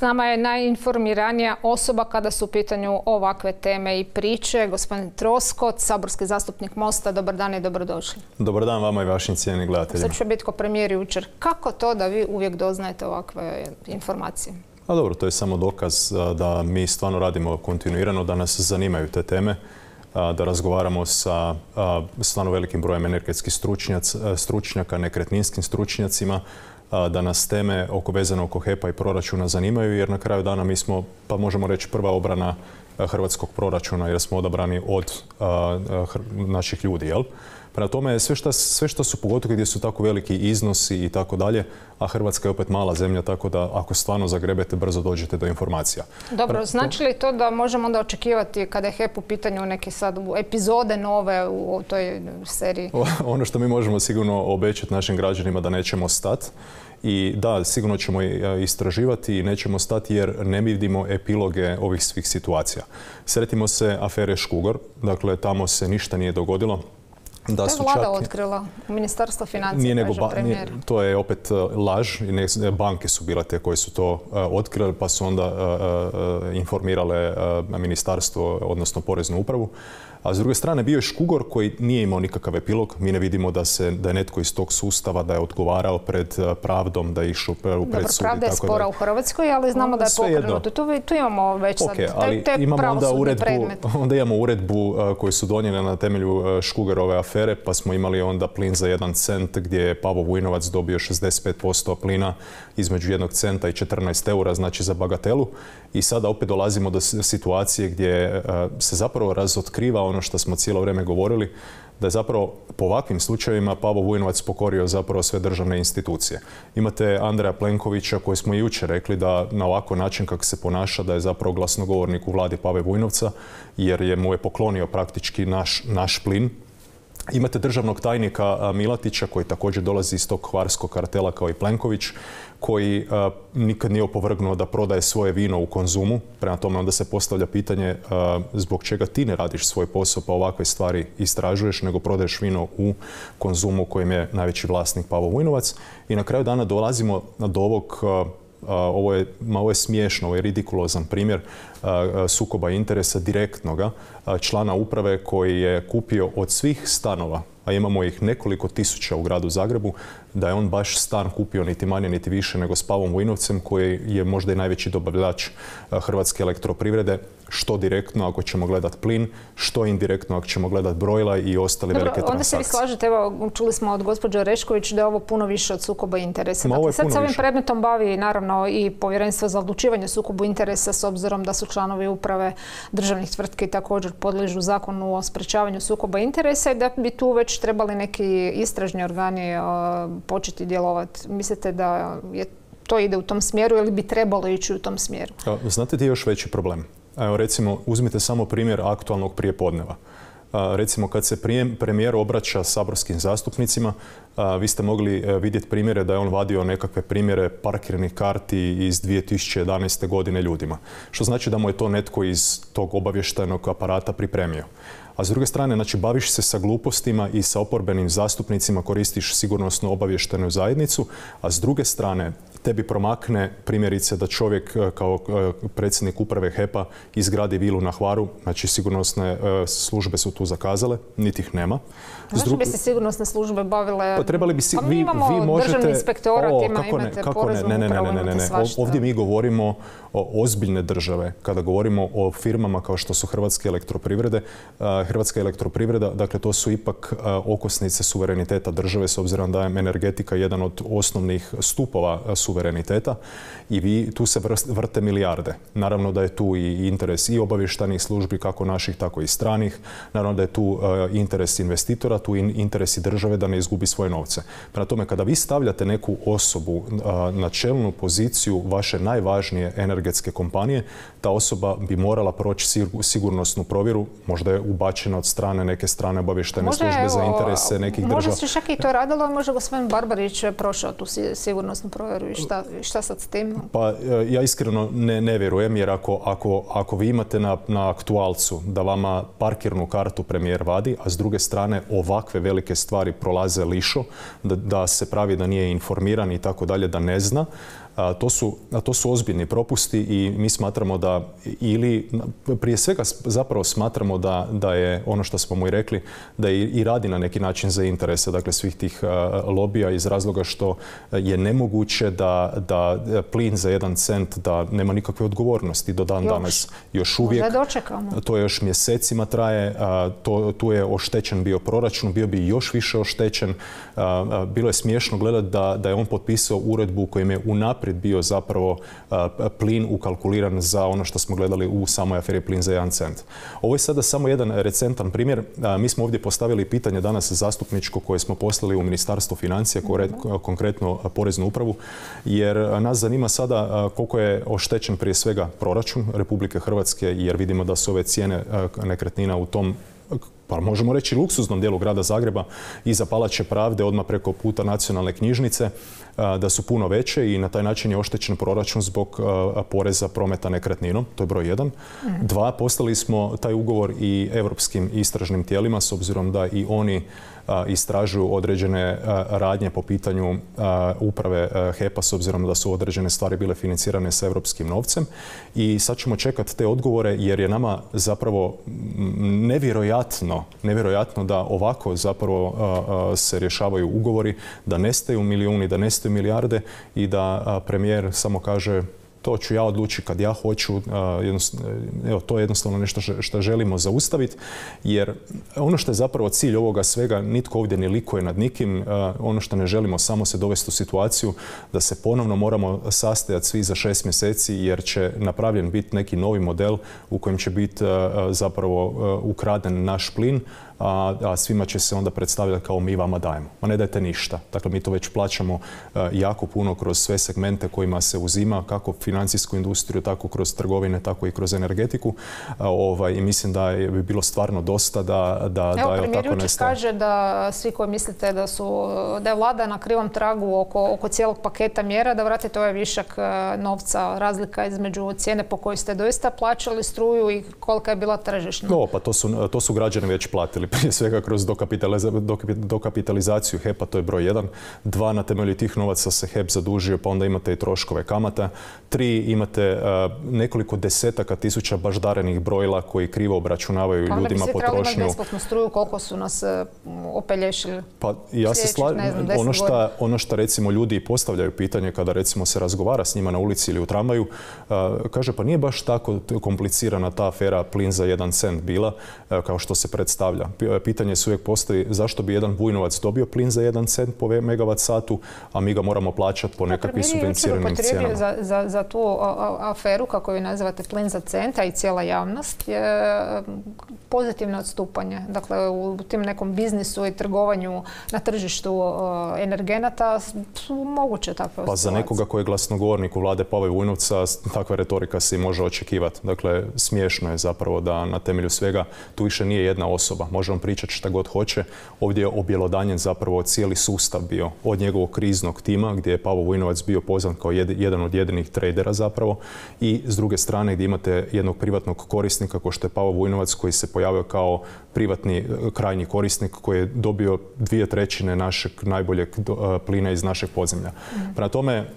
S nama je najinformiranija osoba kada su u pitanju ovakve teme i priče. Gospodin Troskot, saborski zastupnik Mosta. Dobar dan i dobrodošli. Dobar dan vama i vašim cijenjenim gledateljima. Sad će biti ko premijer jučer. Kako to da vi uvijek doznajete ovakve informacije? A dobro, to je samo dokaz da mi stvarno radimo kontinuirano, da nas zanimaju te teme, da razgovaramo sa stvarno velikim brojem energetskih stručnjaka, nekretninskim stručnjacima, da nas teme vezano oko HEP-a i proračuna zanimaju, jer na kraju dana mi smo, pa možemo reći, prva obrana hrvatskog proračuna jer smo odabrani od naših ljudi, jel? Prema tome, sve što su, pogotovo gdje su tako veliki iznosi i tako dalje, a Hrvatska je opet mala zemlja, tako da ako stvarno zagrebete, brzo dođete do informacija. Dobro, znači li to da možemo onda očekivati kada je HEP u pitanju neke sad epizode nove u toj seriji? Ono što mi možemo sigurno obećati našim građanima da nećemo stati. I da, sigurno ćemo istraživati i nećemo stati jer ne vidimo epiloge ovih svih situacija. Sjetimo se afere Škugor, dakle tamo se ništa nije dogodilo. To je vlada otkrila, Ministarstvo financija, kaže premijer. To je opet laž. Banke su bile te koje su to otkrile, pa su onda informirale ministarstvo, odnosno poreznu upravu. A s druge strane bio je Škugor koji nije imao nikakav epilog. Mi ne vidimo da je netko iz tog sustava da je odgovarao pred pravdom, da je išao pred sud. Dobro, pravda je spora u Hrvatskoj, ali znamo da je pokrenuto. Tu imamo već sad te pravosudne predmete. Onda imamo uredbu koju su donijeli na temelju Škugerove afere, pa smo imali onda plin za 1 cent gdje je Pavo Vujnovac dobio 65% plina između 1 centa i 14 eura, znači za bagatelu. I sada opet dolazimo do situacije gdje se zapravo razotkriva ono što smo cijelo vrijeme govorili, da je zapravo po ovakvim slučajevima Pavo Vujnovac pokorio zapravo sve državne institucije. Imate Andreja Plenkovića koji smo jučer rekli da na ovakav način kako se ponaša da je zapravo glasnogovornik u vladi Pave Vujnovca jer mu je poklonio praktički naš plin. Imate državnog tajnika Milatića koji također dolazi iz tog hvarskog kartela kao i Plenković, koji nikad nije opovrgnuo da prodaje svoje vino u Konzumu. Prema tome onda se postavlja pitanje zbog čega ti ne radiš svoj posao pa ovakve stvari istražuješ, nego prodaješ vino u Konzumu kojem je najveći vlasnik Pavo Vujnovac. I na kraju dana dolazimo do ovog, ovo je smiješno, ovo je ridikulozan primjer sukoba interesa direktnoga člana uprave koji je kupio od svih stanova, a imamo ih nekoliko tisuća u gradu Zagrebu, da je on baš stan kupio niti manje niti više nego s Pavom Vujnovcem koji je možda i najveći dobavljač Hrvatske elektroprivrede, što direktno ako ćemo gledati plin, što indirektno ako ćemo gledati brojila i ostale velike transakcije. Onda se vi slažete, evo čuli smo od gospođe Orešković da je ovo puno više od sukoba interesa. Dakle, sad se ovim predmetom bavi naravno i Povjerenstvo za odlučivanje o sukobu interesa s obzirom da su članovi uprave državnih tvrtki također podliježu zakonu o sprečavanju sukoba interesa i da bi tu već trebali neki istražni organi početi djelovati. Mislite da to ide u tom smjeru ili bi trebalo ići u tom smjeru? Znate ti još veći problem? Evo recimo, uzmite samo primjer aktualnog prijepodneva. Recimo kad se premijer obraća saborskim zastupnicima, vi ste mogli vidjeti primjere da je on vadio nekakve primjere parkirnih karti iz 2011. godine ljudima. Što znači da mu je to netko iz tog obavještajnog aparata pripremio. A s druge strane, znači, baviš se sa glupostima i sa oporbenim zastupnicima, koristiš sigurnosno obavještajnu zajednicu, a s druge strane, tebi promakne primjerice da čovjek kao predsjednik uprave HEP-a izgradi vilu na Hvaru, znači sigurnosne službe su tu zakazale, niti ih nema. Zašto bi se sigurnosne službe bavile? Pa trebali bi mi imamo državni inspektorat, imate poreznu upravu, imate svašta. Ovdje mi govorimo o ozbiljne države. Kada govorimo o firmama kao što su Hrvatske elektroprivrede, Hrvatska elektroprivreda, dakle to su ipak okosnice suvereniteta države s obzirom da je energetika jedan od osnovnih stupova suvereniteta i tu se vrte milijarde. Naravno da je tu i interes i obavještajnih službi, kako naših, tako i stranih. Naravno da je tu interes investitora, tu interes i države da ne izgubi svoje novce. Prema tome, kada vi stavljate neku osobu na čelnu poziciju vaše najvažnije energetske kompanije, ta osoba bi morala proći sigurnosnu provjeru, možda je ubačena od strane neke strane obavještajne službe za interese nekih država. Možda se čak i to radilo, a možda gospodin Barbarić prošao tu sigurnosnu provjeru i šta sad s tim? Pa ja iskreno ne vjerujem, jer ako vi imate na aktualcu da vama parkirnu kartu premijer vadi, a s druge strane ovakve velike stvari prolaze lišo, da se pravi da nije informiran i tako dalje, da ne zna, To su ozbiljni propusti i mi smatramo da, ili prije svega zapravo smatramo da je ono što smo mu i rekli, da i radi na neki način za interese, dakle svih tih lobija, iz razloga što je nemoguće da plin za 1 cent da nema nikakve odgovornosti do dan danas. Još uvijek. To još mjesecima traje, tu je oštećen bio proračun, bio bi još više oštećen. Bilo je smiješno gledati da je on potpisao uredbu u kojem je unaprijed bio zapravo plin ukalkuliran za ono što smo gledali u samoj aferi plin za 1 cent. Ovo je sada samo jedan recentan primjer. Mi smo ovdje postavili pitanje danas zastupničko koje smo poslali u Ministarstvo financija, konkretno Poreznu upravu, jer nas zanima sada koliko je oštećen prije svega proračun Republike Hrvatske, jer vidimo da su ove cijene nekretnina u tom, pa možemo reći, luksuznom dijelu grada Zagreba, iza Palače pravde, odmah preko puta Nacionalne knjižnice, da su puno veće i na taj način je oštećen proračun zbog poreza prometa nekretninom. To je broj 1. 2, poslali smo taj ugovor i europskim istražnim tijelima, s obzirom da i oni istražuju određene radnje po pitanju uprave HEP-a, s obzirom da su određene stvari bile financirane sa europskim novcem. I sad ćemo čekati te odgovore, jer je nama zapravo nevjerojatno da ovako zapravo se rješavaju ugovori, da nestaju milijuni, da nestaju milijarde i da premijer samo kaže to ću ja odlučiti kad ja hoću. Evo, to je jednostavno nešto što želimo zaustaviti, jer ono što je zapravo cilj ovoga svega, nitko ovdje ne likuje nad nikim. Ono što ne želimo, samo se dovesti u situaciju da se ponovno moramo sastajati svi za 6 mjeseci, jer će napravljen biti neki novi model u kojem će biti zapravo ukraden naš plin, a svima će se onda predstavljati kao mi vama dajemo. Ma ne dajte ništa. Dakle, mi to već plaćamo jako puno kroz sve segmente kojima se uzima, kako financijsku industriju, tako kroz trgovine, tako i kroz energetiku. I mislim da bi bilo stvarno dosta da premijer Jučić kaže da svi koji mislite da je vlada na krivom tragu oko cijelog paketa mjera, da vratite ovaj višak novca, razlika između cijene po kojoj ste doista plaćali struju i kolika je bila tržišna. Pa to su građani već platili. Prije svega kroz dokapitalizaciju HEP-a, to je broj 1. 2, na temelju tih novaca se HEP zadužio, pa onda imate i troškove kamata. 3, imate nekoliko desetaka tisuća baždarenih brojila koji krivo obračunavaju ljudima potrošnju. Pa onda bi svi trebali imati besplatnu struju, koliko su nas opelješili. Pa ja se slažem, ono što recimo ljudi postavljaju pitanje kada recimo se razgovara s njima na ulici ili u tramvaju, kaže pa nije baš tako komplicirana ta afera plin za 1 cent bila kao što se predstavlja. Pitanje se uvijek postoji zašto bi jedan Vujnovac dobio plin za 1 cent po megavat satu, a mi ga moramo plaćati po nekakvim subvenciranim cijenama. Za tu aferu, kako ju nazivate plin za cent, a i cijela javnost, je pozitivno odstupanje. Dakle, u tim nekom biznisu i trgovanju na tržištu energenata su moguće takve situacije. Pa za nekoga koji je glasnogovornik u vlade Pave Vujnovca, takva retorika se i može očekivati. Dakle, smiješno je zapravo da na temelju svega tu više nije jedna osoba. Možemo pričati šta god hoće. Ovdje je objelodanjen zapravo cijeli sustav bio. Od njegovog kriznog tima, gdje je Pavo Vujnovac bio pozvan kao jedan od jedinih tradera zapravo, i s druge strane gdje imate jednog privatnog korisnika kao što je Pavo Vujnovac, koji se pojavio kao privatni krajnji korisnik koji je dobio 2/3 našeg najboljeg plina iz našeg podzemlja. Prema tome,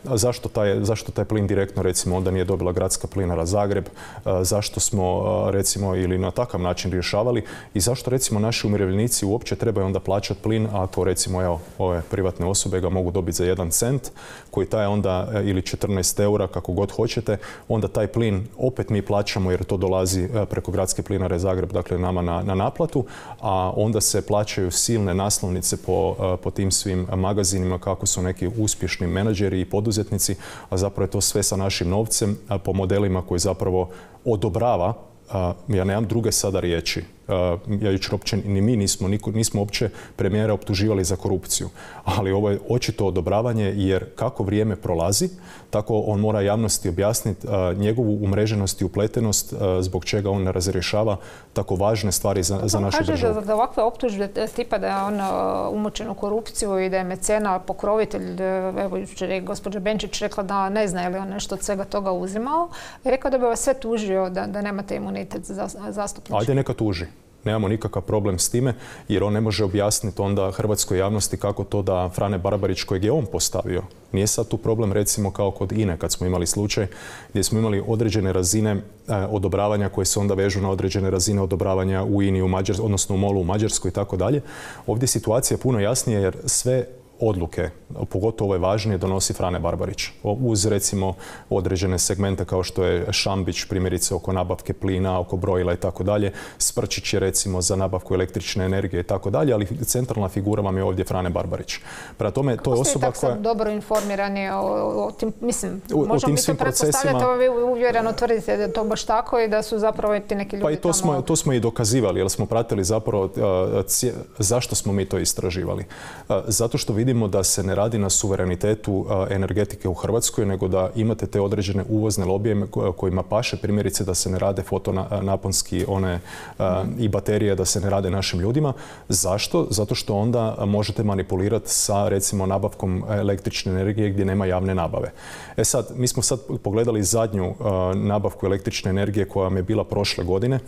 zašto taj plin direktno recimo onda nije dobila Gradska plinara Zagreb, zašto smo recimo ili na takav način rješavali i zašto recimo naši umirovljenici uopće trebaju onda plaćati plin ako recimo ove privatne osobe ga mogu dobiti za 1 cent koji taj onda ili 14 eura kako god hoćete, onda taj plin opet mi plaćamo jer to dolazi preko Gradske plinare Zagreb, dakle nama na naplatu, a onda se plaćaju silne naslovnice po tim svim magazinima kako su neki uspješni menadžeri i poduzetnici, a zapravo je to sve sa našim novcem po modelima koji zapravo odobrava. Ja nemam druge sada riječi. Ja jučer uopće ni mi nismo uopće premijera optuživali za korupciju. Ali ovo je očito odobravanje jer kako vrijeme prolazi, tako on mora javnosti objasniti njegovu umreženost i upletenost zbog čega on ne razrješava tako važne stvari za našu državu. On kaže da ovakve optužbe tipa da je on umočen u korupciju i da je mecena, pokrovitelj, evo jučer je gospođa Benčić rekla da ne zna je li on nešto od svega toga uzimao. I rekao da bi vas sve tužio da nemate imunitet za zastupnički. Ajde neka tuži. Nemamo nikakav problem s time jer on ne može objasniti onda hrvatskoj javnosti kako to da Frane Barbarić kojeg je on postavio. Nije sad tu problem recimo kao kod INE kad smo imali slučaj gdje smo imali određene razine odobravanja koje se onda vežu na određene razine odobravanja u INI, odnosno u MOL-u u Mađarskoj i tako dalje. Ovdje je situacija puno jasnija jer sve odluke, pogotovo ove važnije, donosi Frane Barbarić. Uz recimo određene segmente kao što je Šambić, primjerice oko nabavke plina, oko brojila i tako dalje. Sprčić je recimo za nabavku električne energije i tako dalje, ali centralna figura vam je ovdje Frane Barbarić. Prema tome, to je osoba koja... Kako ste dobro informirani o tim, mislim, možemo mi to pretpostavljati, vi uvjereno tvrdite da je to baš tako i da su zapravo ti neki ljudi tamo... to smo i dokazivali, jer smo pratili zapravo zašto smo mi to istraživali. Zato što vidimo da se ne radi na suverenitetu energetike u Hrvatskoj, nego da imate te određene uvozne lobije kojima paše, primjerice da se ne rade fotonaponski i baterije, da se ne rade našim ljudima. Zašto? Zato što onda možete manipulirati sa recimo nabavkom električne energije gdje nema javne nabave. Sad, mi smo sad pogledali zadnju nabavku električne energije koja vam je bila prošle godine.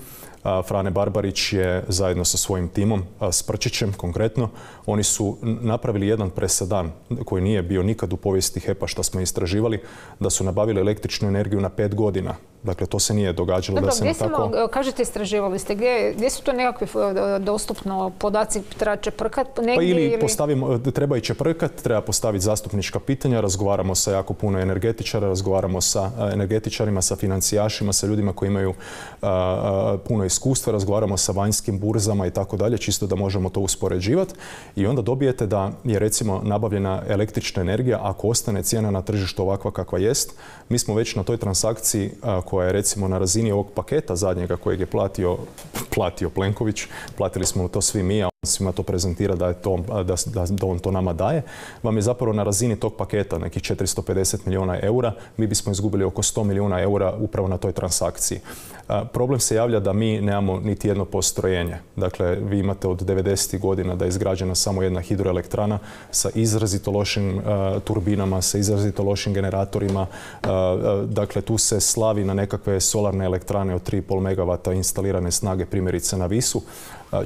Frane Barbarić je zajedno sa svojim timom, Sprčićem konkretno, oni su napravili jedan presedan koji nije bio nikad u povijesti HEP-a što smo istraživali, da su nabavili električnu energiju na 5 godina. Dakle, to se nije događalo. Dobro, da se kažete, istraživali ste, gdje su to nekakvi dostupno podaci, treba čeprkat negdje? Treba i čeprkat, treba postaviti zastupnička pitanja, razgovaramo sa jako puno energetičara, razgovaramo sa energetičarima, sa financijašima, sa ljudima koji imaju puno iskustva, razgovaramo sa vanjskim burzama i tako dalje, čisto da možemo to uspoređivati. I onda dobijete da je recimo nabavljena električna energija, ako ostane cijena na tržištu ovakva kakva jest, mi smo već na toj transakciji koja je recimo na razini ovog paketa zadnjega kojeg je platio Plenković, platili smo to svi mi, a on svima to prezentira da on to nama daje, vam je zapravo na razini tog paketa nekih 450 milijuna eura, mi bismo izgubili oko 100 milijuna eura upravo na toj transakciji. Problem se javlja da mi nemamo niti jedno postrojenje. Dakle, vi imate od 90. godina da je izgrađena samo jedna hidroelektrana sa izrazito lošim turbinama, sa izrazito lošim generatorima. Dakle, tu se slavi na nekakve solarne elektrane od 3,5 megavata instalirane snage, primjerice na Visu.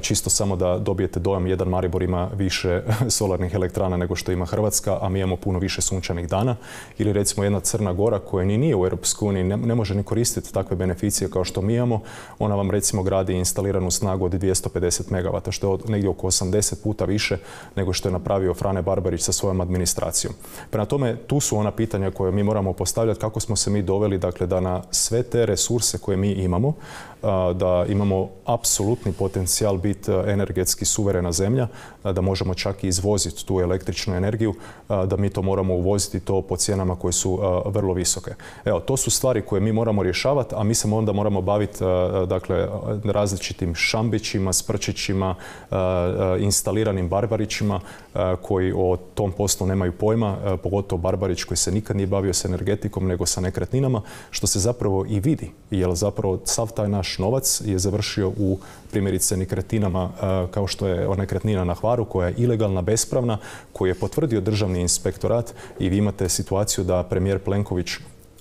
Čisto samo da dobijete dojam, jedan Maribor ima više solarnih elektrana nego što ima Hrvatska, a mi imamo puno više sunčanih dana. Ili recimo jedna Crna Gora koja ni nije u Europskoj uniji, ne može ni koristiti takve beneficije kao što mi imamo. Ona vam recimo gradi instaliranu snagu od 250 megavata, što je negdje oko 80 puta više nego što je napravio Frane Barbarić sa svojom administracijom. Prema tome, tu su ona pitanja koje mi moramo postavljati, kako smo se mi doveli, dakle, da na sve te resurse koje mi imamo, da imamo apsolutni potencijal biti energetski suverena zemlja, da možemo čak i izvoziti tu električnu energiju, da mi to moramo uvoziti to po cijenama koje su vrlo visoke. Evo, to su stvari koje mi moramo rješavati, a mi se onda moramo baviti dakle, različitim Šambićima, Sprčićima, instaliranim Barbarićima koji o tom poslu nemaju pojma, pogotovo Barbarić koji se nikad nije bavio s energetikom nego sa nekretninama, što se zapravo i vidi, jer zapravo sav taj naš novac je završio u primjerice nekretninama kao što je nekretnina na Hvaru koja je ilegalna, bespravna, koju je potvrdio Državni inspektorat i vi imate situaciju da premijer Plenković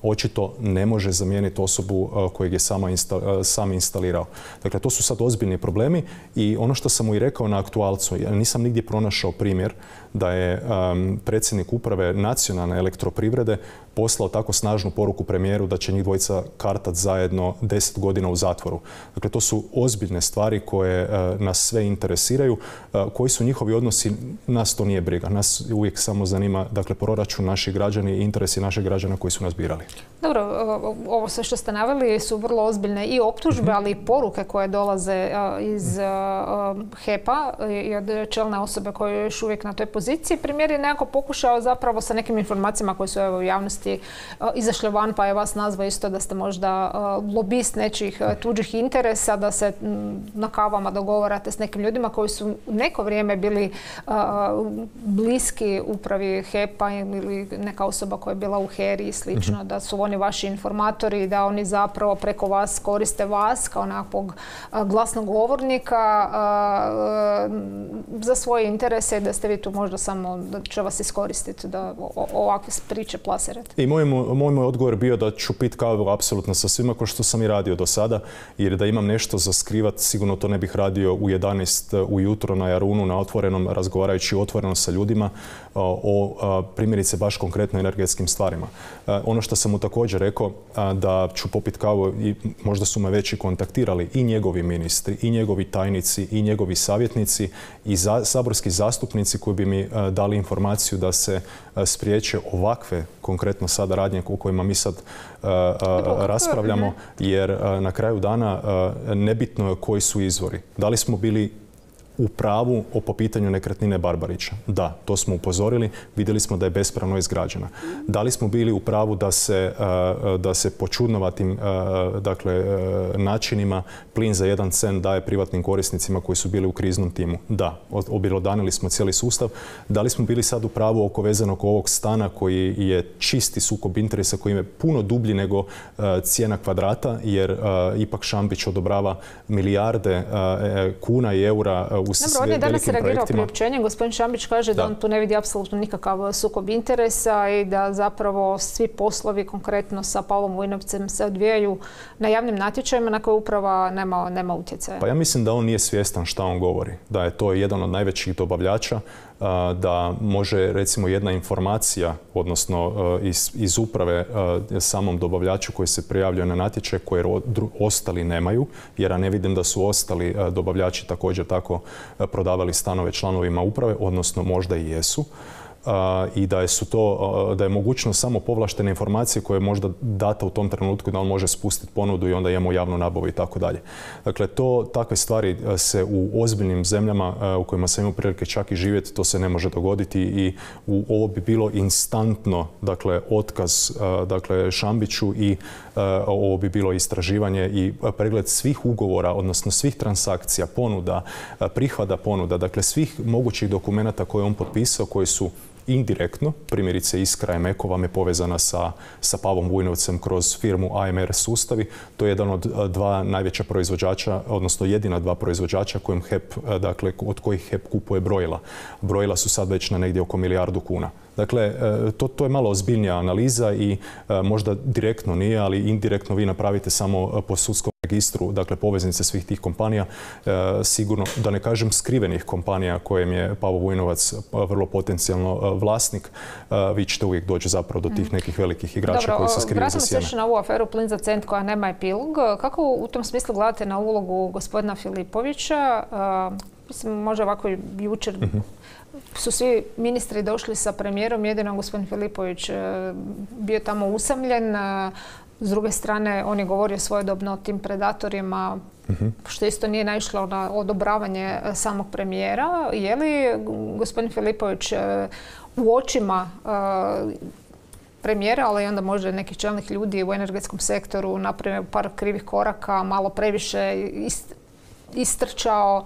očito ne može zamijeniti osobu kojeg je sam instalirao. Dakle, to su sad ozbiljni problemi i ono što sam mu i rekao na aktualcu, ja nisam nigdje pronašao primjer da je predsjednik uprave nacionalne elektroprivrede poslao tako snažnu poruku premijeru da će njih dvojica kartat zajedno 10 godina u zatvoru. Dakle, to su ozbiljne stvari koje nas sve interesiraju. Koji su njihovi odnosi, nas to nije briga. Nas uvijek samo zanima, dakle, proračun naših građana i interesi naših građana koji su nas birali. Dobro, ovo sve što ste naveli su vrlo ozbiljne i optužbe, ali i poruke koje dolaze iz HEP-a i od čelne osobe koje je još uvijek na toj poziciji. Premijer je nekako pokušao zapravo sa nekim informacijama koje su u javnosti izašle van, pa je vas nazvao isto da ste možda lobist nečih tuđih interesa, da se na kavama dogovarate s nekim ljudima koji su neko vrijeme bili bliski upravi HEP-a ili neka osoba koja je bila u HERI i slično, da su oni vaši informatori i da oni zapravo preko vas koriste vas kao nekakvog glasnogovornika za svoje interese i da ste vi tu možda samo da će vas iskoristiti da ovakve priče plasirate. I moj odgovor bio da ću pit kavu apsolutno sa svima kao što sam i radio do sada, jer da imam nešto za skrivat sigurno to ne bih radio u 11 ujutro na Jarunu na otvorenom, razgovarajući otvoreno sa ljudima o primjerice baš konkretno energetskim stvarima. Ono što sam mu također rekao da ću popit kavu i možda su me već i kontaktirali i njegovi ministri, i njegovi tajnici, i njegovi savjetnici i saborski zastupnici koji bi mi dali informaciju da se spriječe ovakve konkretno sada radnje o kojima mi sad raspravljamo, jer na kraju dana nebitno je koji su izvori. Da li smo bili u pravu po pitanju nekretnine Barbarića? Da, to smo upozorili. Vidjeli smo da je bespravno izgrađena. Da li smo bili u pravu da se po čudnovatim načinima plin za 1 cent daje privatnim korisnicima koji su bili u kriznom timu? Da, objelodanili smo cijeli sustav. Da li smo bili sad u pravu oko vezanog ovog stana koji je čisti sukob interesa, koji je puno dublji nego cijena kvadrata, jer ipak Šambić odobrava milijarde kuna i eura u Dobro, on je danas reagirao priopćenjem. Gospodin Šambić kaže da on tu ne vidi apsolutno nikakav sukob interesa i da zapravo svi poslovi konkretno sa Pavlom Vujnovcem se odvijaju na javnim natječajima na koje uprava nema utjecaja. Pa ja mislim da on nije svjestan šta on govori. Da je to jedan od najvećih dobavljača, da može recimo jedna informacija, odnosno iz uprave samom dobavljaču koji se prijavljuje na natječaj, koje ostali nemaju, jer ja ne vidim da su ostali dobavljači također tako prodavali stanove članovima uprave, odnosno možda i jesu. I da je mogućnost samo povlaštene informacije koje je možda data u tom trenutku da on može spustiti ponudu i onda imamo javnu nabavu i tako dalje. Dakle, takve stvari se u ozbiljnim zemljama u kojima sam imao prilike čak i živjeti, to se ne može dogoditi i ovo bi bilo instantno, dakle, otkaz Šambiću i ovo bi bilo istraživanje i pregled svih ugovora, odnosno svih transakcija, ponuda, prihvata ponuda, dakle svih mogućih dokumenata koje je on potpisao, koji su indirektno, primjerice Iskra Emeko vam je povezana sa Pavlom Vujnovcem kroz firmu AMR Sustavi. To je jedan od 2 najveća proizvođača, odnosno jedina 2 proizvođača od kojih HEP kupuje brojila. Brojila su sad već na negdje oko 1 milijardu kuna. Dakle, to je malo ozbiljnija analiza i možda direktno nije, ali indirektno vi napravite samo po sudskom registru, dakle poveznice svih tih kompanija, sigurno, da ne kažem skrivenih kompanija kojem je Pavo Vujnovac vrlo potencijalno vlasnik, vi ćete uvijek doći zapravo do tih nekih velikih igrača koji se skriju za sjene. Vratimo se još na ovu aferu plin za cent koja nema epilog. Kako u tom smislu gledate na ulogu gospodina Filipovića? Mislim, možda ovako jučer su svi ministri došli sa premijerom, jedino gospodin Filipović bio tamo usamljen. S druge strane, on je govorio svojedobno o tim predatorima, što isto nije naišlo na odobravanje samog premijera. Je li gospodin Filipović u očima premijera, ali onda možda nekih čelnih ljudi u energetskom sektoru napravio par krivih koraka, malo previše istrčao?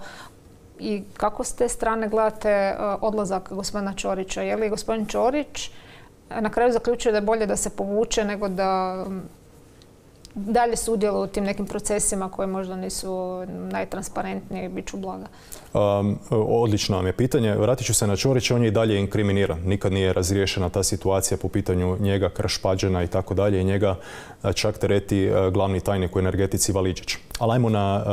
I kako s te strane gledate odlazak gospodina Ćorića? Je li gospodin Ćorić na kraju zaključio da je bolje da se povuče nego da dalje sudjeluje u tim nekim procesima koji možda nisu najtransparentniji, bit ću blaga? Odlično vam je pitanje. Vratit ću se na Ćorića, on je i dalje inkriminiran. Nikad nije razriješena ta situacija po pitanju njega, Krš-Pađena i tako dalje. I njega čak tereti glavni tajnik u energetici Valiđić. Ali ajmo na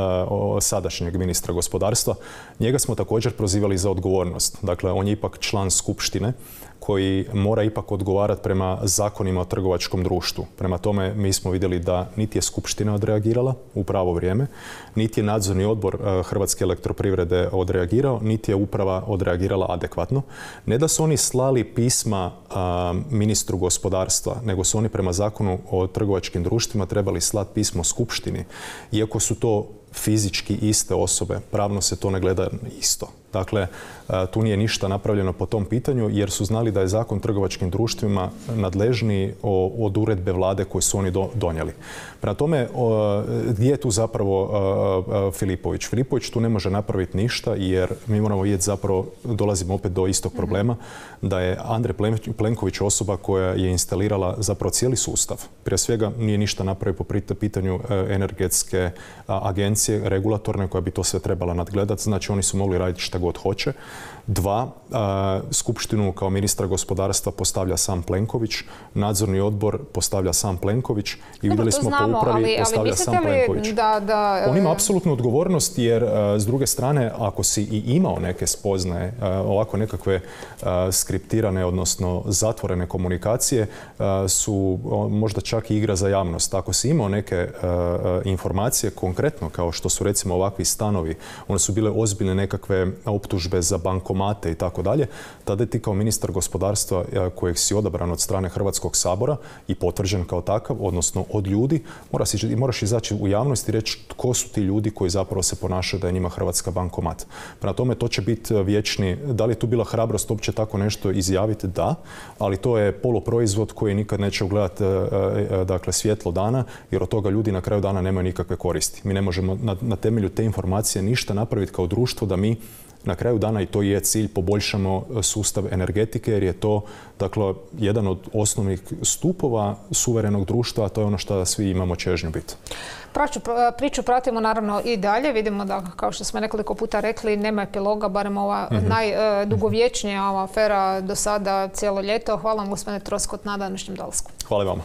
sadašnjeg ministra gospodarstva. Njega smo također prozivali za odgovornost. Dakle, on je ipak član skupštine koji mora ipak odgovarati prema zakonima o trgovačkom društvu. Prema tome, mi smo vidjeli da niti je skupština odreagirala u pravo vrijeme, niti je nadzorni odbor Hrvatske elektroprivrede odreagirao, niti je uprava odreagirala adekvatno. Ne da su oni slali pisma ministru gospodarstva, nego su oni prema zakonu o trgovačkim društvima trebali slati pismo skupštini. Iako su to fizički iste osobe, pravno se to ne gleda isto. Dakle, tu nije ništa napravljeno po tom pitanju jer su znali da je Zakon o trgovačkim društvima nadležniji od uredbe vlade koju su oni donijeli. Prema tome, gdje je tu zapravo Filipović? Filipović tu ne može napraviti ništa jer mi moramo vidjeti, zapravo dolazimo opet do istog problema, da je Andrej Plenković osoba koja je instalirala zapravo cijeli sustav. Prije svega nije ništa napravio po pitanju energetske agencije, regulatorne, koja bi to sve trebala nadgledati. Znači oni su mogli raditi šta god hoće. 2. Skupštinu kao ministra gospodarstva postavlja sam Plenković, nadzorni odbor postavlja sam Plenković i vidjeli smo po upravi postavlja sam Plenković. On ima apsolutnu odgovornost jer s druge strane, ako si i imao neke spoznaje, ovako nekakve skriptirane, odnosno zatvorene komunikacije, su možda čak i igra za javnost. Ako si imao neke informacije konkretno, kao što su recimo ovakvi stanovi, one su bile ozbiljne nekakve optužbe za bankomate i tako dalje, tada ti kao ministar gospodarstva kojeg si odabran od strane Hrvatskog sabora i potvrđen kao takav, odnosno od ljudi, moraš izaći u javnost i reći tko su ti ljudi koji zapravo se ponašaju da je njima Hrvatska bankomat. Prema tome, to će biti vječni. Da li je tu bila hrabrost uopće tako nešto izjaviti? Da, ali to je poluproizvod koji nikad neće ugledati dakle, svjetlo dana, jer od toga ljudi na kraju dana nemaju nikakve koristi. Mi ne možemo na temelju te informacije ništa napraviti kao društvo da mi na kraju dana, i to je cilj, poboljšamo sustav energetike jer je to dakle, jedan od osnovnih stupova suverenog društva, a to je ono što svi imamo čežnju biti. Priču pratimo naravno i dalje. Vidimo da, kao što smo nekoliko puta rekli, nema epiloga, barem ova najdugovječnija ova afera do sada cijelo ljeto. Hvala vam, gospodine Troskot, na današnjem dolasku. Hvala vama.